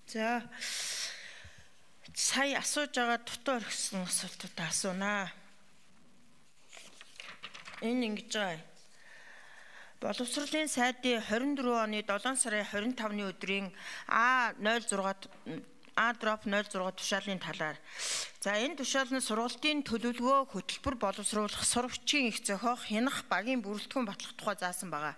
За сая асууж байгаа дутуу орхисон асуултуудаа асуунаа. Энэ ингэж байгаа. Боловсролын сайдын 24 оны 7 сарын 25-ны өдрийн A06 тушаалын талаар. За энэ тушаал нь сургалтын төлөвлөгөө хөтөлбөр боловсруулах сурагчийн их зохиох хянах багийн бүрэлдэхүүн батлах тухай заасан байгаа.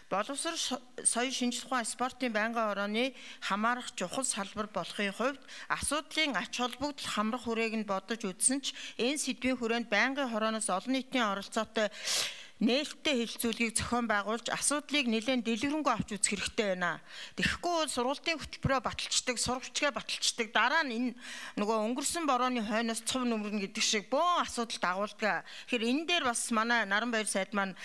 Боловсрол соёлын шинжилх ухаан спортын байнгын хорооны хамаарах чухал салбар болохын хувьд асуудлын ач холбогдол хамрах хүрээг нь бодож үзсэн ч энэ сэдвийн хүрээнд байнгын хорооноос олон нийтийн оролцоотой нээлттэй хэлэлцүүлгийг зохион байгуулж асуудлыг нэлээд дэлгэрэнгүй авч үзэх хэрэгтэй байна. Тэгэхгүй бол сургалтын хөтөлбөрөөр баталчдаг, сурагчгаа баталчдаг, дараа нь энэ нөгөө өнгөрсөн борооны хойноос цов нөмрөн гэдэг шиг бөөн асуудал дагуулдаг. Тэгэхээр энэ дээр бас манай Наранбаяр сайд маань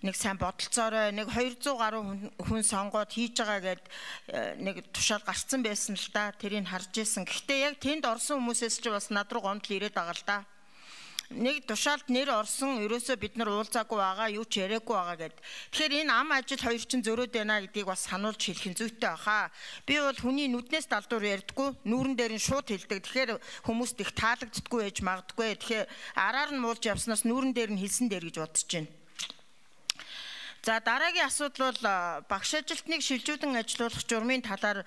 нэг сайн бодолцоорой нэг 200 гаруй хүн сонгоод хийж байгаа гэд нэг тушаал гарцсан байсан л да. Тэрийг харж ирсэн. Гэхдээ яг тэнд орсон хүмүүсээс ч бас над руу гомдол ирээд байгаа л да. Нэг тушаалд нэр орсон ерөөсөө бид нар уулзаагүй байгаа, юу ч яриаггүй байгаа гэд. Тэгэхээр энэ ам ажил хоёр чинь зөрөөд байна гэдгийг бас сануулж хэлэх нь зүйтэй баха. Би бол хүний нүднээс далдуур ярьдаггүй, нүүрэн дээр нь шууд хэлдэг. Тэгэхээр хүмүүст их таалагддаггүй ээж магадгүй. Тэгэхээр араар нь муулж явснаас нүүрэн дээр нь хэлсэн дээр гэж бодож байна. За дараагийн асуудал бол багш ажилтныг шилжүүлэн ажилуулах журмын талаар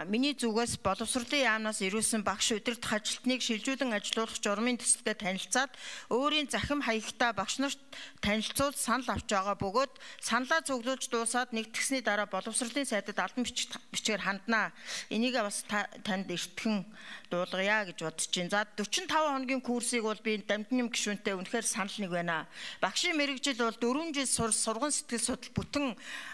миний зүгээс боловсролын яамнаас ирүүлсэн багш удирдах ажилтныг шилжүүлэн ажилуулах журмын төсөлтэй танилцаад өөрийн захим хаягтай багш нарт танилцуулж санал авч байгаа бөгөөд саналаа цуглуулж дуусаад нэгтгэсний дараа боловсролын сайдад албан бичгээр ханднаа. Энийг бас танд эртхэн дуулгая гэж бодож байна. За 45 хоногийн курсыг бол би Дамжин гишүүнтэй үнэхээр санал нэг байна. Багшийн мэргэжил бол 4 жил сургууль сэтгэл судлал бүтэн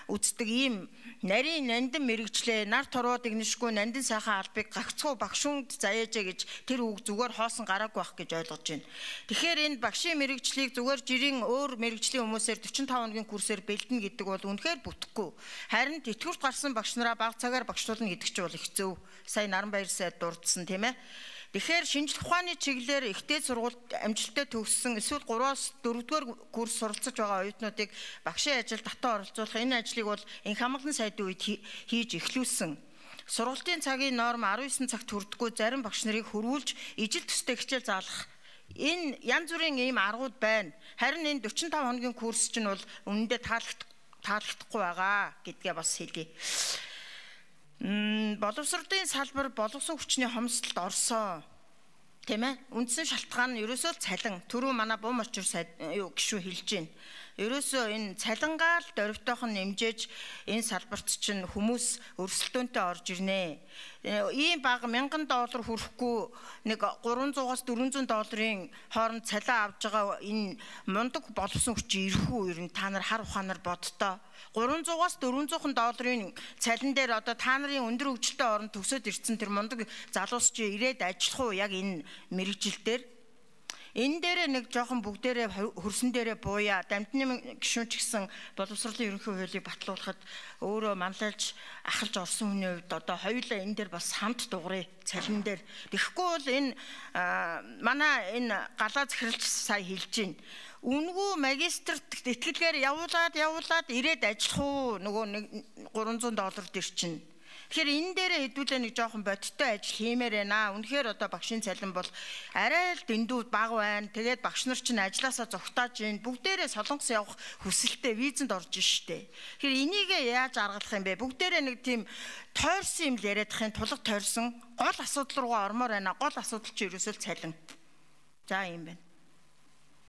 үздэг ийм нарийн нандин мэрэгчлээ нар тороод игнэшгүй нандин сайхан албыг гагцхуу багшуунд заяажээ гэж тэр үг зүгээр хоосон гараагүй байх гэж ойлгож байна. Тэгэхээр энэ багшийн мэрэгчлийг зүгээр жирийн өөр мэрэгжлийн хүмүүсээр 45 хоногийн курсээр бэлдэнэ гэдэг бол үнэхээр бүтэхгүй. Харин тэтгэврт гарсан багш нараа бага цагаар багшлуулна гэдэг чинь бол их зөв. Сая Наранбаяр сайд дурдсан тийм ээ. Тэгэхээр шинжлэх ухааны чиглэлээр ихтэй сургуульд амжилттай төгссөн эсвэл 3-аас 4-р курс суралцж байгаа оюутнуудыг багшийн ажил татан оролцуулах энэ ажлыг бол энх хамгаалалтын сайдын үед хийж эхлүүлсэн. Сургалтын цагийн норм 19 цагт хүрдэггүй зарим багш нарыг хөрвүүлж ижил төстэй хичээл заалгах. Энэ янз бүрийн ийм аргууд байна. Харин энэ 45 хоногийн курс чинь бол үнэндээ таалагдахгүй байгаа гэдгээ бас хэлье. Боловсролын салбар болгосон хүчний хомсдолд орсон. Тийм ээ? Үндсэн шалтгаан нь ерөөсөө цалин. Түрүү манай бум очир гишүү хэлж байна. Ерөөсөө энэ цалингаал дөрвтойхон нэмжээж энэ салбарт чинь хүмүүс өрсөлдөөнтэй орж ирнэ. Ийм бага $1000 хүрэхгүй нэг $300-аас $400 хооронд цалин авж байгаа энэ мундаг боловсон хүчин ирэх үү ер нь та нар хар ухаанаар бодтоо. $300-аас $400 цалин дээр одоо та нарын өндөр хөгжилтэй орнд төгсөөд ирсэн тэр мундаг залуус чи ирээд ажиллах уу яг энэ мэрэгжил дээр. Энэ дээрээ нэг жоохон бүгдээрээ хөрсөн дээрээ бууя. Дамжин гишүүн ч гэсэн боловсролын ерөнхий хуулийг батлуулахад өөрөө манлайлж ахалж орсон хүний хувьд одоо хоёулаа энэ дээр бас хамт дуурай цалин дээр. Тэгэхгүй бол энэ манай энэ галаа захиралч сая хэлж байна. Үнгүй магистрт итгэлгээр явуулаад ирээд ажиллах уу нөгөө $300 дээр чинь. Тэгэхээр энэ дээрээ хэдүүлээ нэг жоохон бодиттой ажил хиймээр байна. Үнэхээр одоо багшийн цалин бол арай л дэндүү бага байна. Тэгээд багш нар чинь ажилласаа зугатааж байна. Бүгдээрээ Солонгос явах хүсэлтэй визэнд орж штэ. Тэгэхээр энийг яаж аргалах юм бэ? Бүгдээрээ нэг тийм тойрсон юм л яриадахын тулга тойрсон гол асуудал руугаа ормоор байна. Гол асуудал чинь ерөөсөө цалин. За юм байна.